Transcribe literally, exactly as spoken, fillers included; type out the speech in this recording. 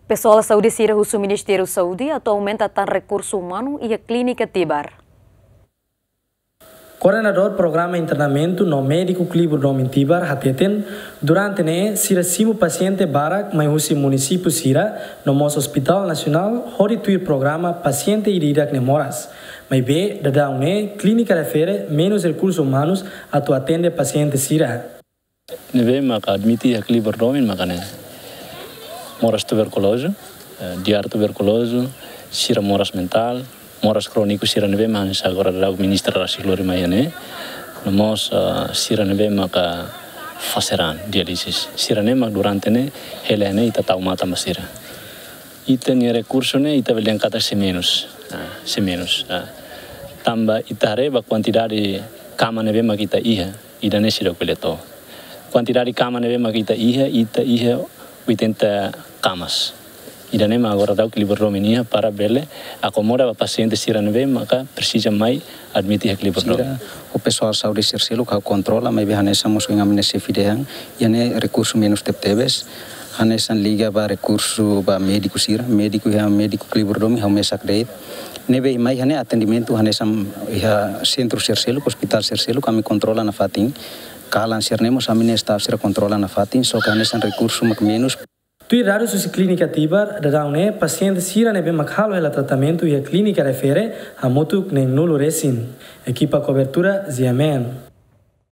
Pesoál saúde sira husu Ministériu Saúde atu aumenta tan rekursu umanu iha Klínika Tibar. Koordenadór Programa Internamentu no Médiku Klibur Domin Tibar hateten, durante ne'e sira simu pasiente barak mai husi munisípiu sira no mós Hospitál Nasionál hodi tuir programa pasiente ida-idak ne'e moras. Maibé daudaun ne'e klínika refere menus rekursu umanus atu atende pasiente sira. Ne'ebé maka admite iha Klibur Domin maka ne'e moras tuberkulozu, eh, diare tuberkulozu, sira moras mentál, moras króniku sira ne'ebé mak hanesan agora daudaun ministra rasik lori mai iha ne'e. No mós, eh, sira ne'ebé maka fase raan, diálise. Sira ne'e mak durante ne'e hela ne'e ita tau matan ba sira. Ita-nia rekursu ne'e ita bele dehan katak sei menus. Ah, sei menus. Ah. Tanba ita haree ba kuantidade kama ne'ebé mak ita iha, ida-ne'e seidauk bele to'o. Kuantidade kama ne'ebé mak ita iha, ita iha oitenta kamas. Ida-ne'e mak agora daudaun Klibur Domin iha para bele akomoda ba pasiente sira ne'ebé maka presiza mai admite iha Klibur Domin. Sira, ho pesoál saúde sira seluk ha'u kontrola, maibé hanesan mós ohin ami-nia xefe dehan, iha ne'e rekursu menus tebetebes, hanesan liga ba rekursu ba médiku sira, médiku iha médiku Klibur Domin ha'u mesak de'it. Ne'ebé mai iha ne'e atendimentu hanesan iha sentru sira seluk, hospitál sira seluk, ami kontrola nafatin. Kalan sira-ne'e mós ami-nia staf sira kontrola nafatin, só ke hanesan rekursu mak menus. Tuir dadus husi Klínika Tibar, daudaun ne'e pasiente sira ne'ebé mak halo hela tratamentu iha klínika refere hamutuk neenulu resin. Ekipa kobertura, G M N.